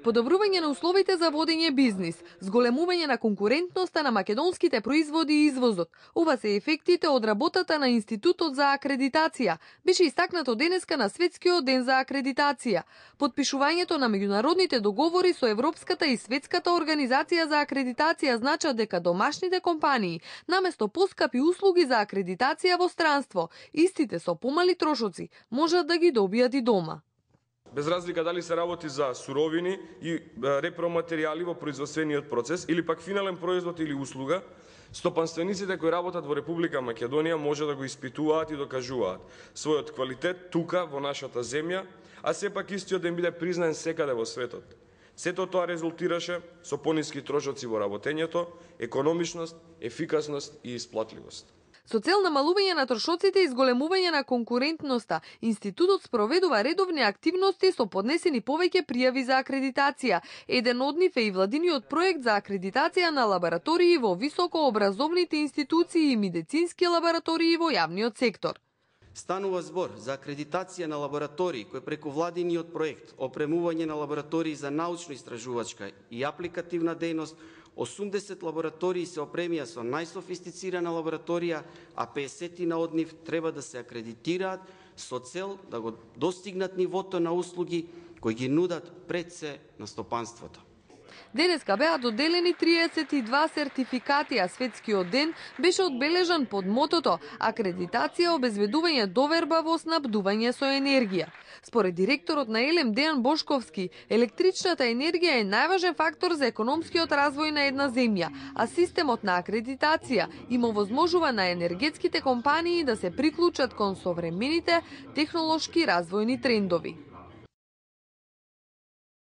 Подобрување на условите за водење бизнис, зголемување на конкурентноста на македонските производи и извозот. Ова се ефектите од работата на Институтот за акредитација. Беше истакнато денеска на Светскиот ден за акредитација. Подпишувањето на меѓународните договори со Европската и Светската организација за акредитација значат дека домашните компании, наместо поскапи услуги за акредитација во странство, истите со помали трошоци, можат да ги добијат и дома. Без разлика дали се работи за суровини и репроматеријали во производствениот процес или пак финален производ или услуга, стопанствениците кои работат во Република Македонија може да го испитуваат и докажуваат својот квалитет тука во нашата земја, а сепак истиот да им биде признаен секаде во светот. Сето тоа резултираше со пониски трошоци во работењето, економичност, ефикасност и исплатливост. Со цел намалување на трошоците и зголемување на конкурентноста, Институтот спроведува редовни активности со поднесени повеќе пријави за акредитација. Еден од нив е и владиниот проект за акредитација на лаборатории во високообразовните институции и медицински лаборатории во јавниот сектор. Станува збор за акредитација на лаборатории кои преку владиниот проект опремување на лаборатории за научно-истражувачка и апликативна дејност. 80 лаборатории се опремија со најсофистицирана лабораторија, а 50 од нив треба да се акредитираат со цел да го достигнат нивото на услуги кои ги нудат пред се на стопанството. Денеска беа доделени 32 сертификати, а Светскиот ден беше одбележан под мотото акредитација, обезбедување доверба во снабдување со енергија. Според директорот на ЕЛЕМ Дејан Бошковски, електричната енергија е најважен фактор за економскиот развој на една земја, а системот на акредитација им овозможува на енергетските компании да се приклучат кон современите технолошки развојни трендови.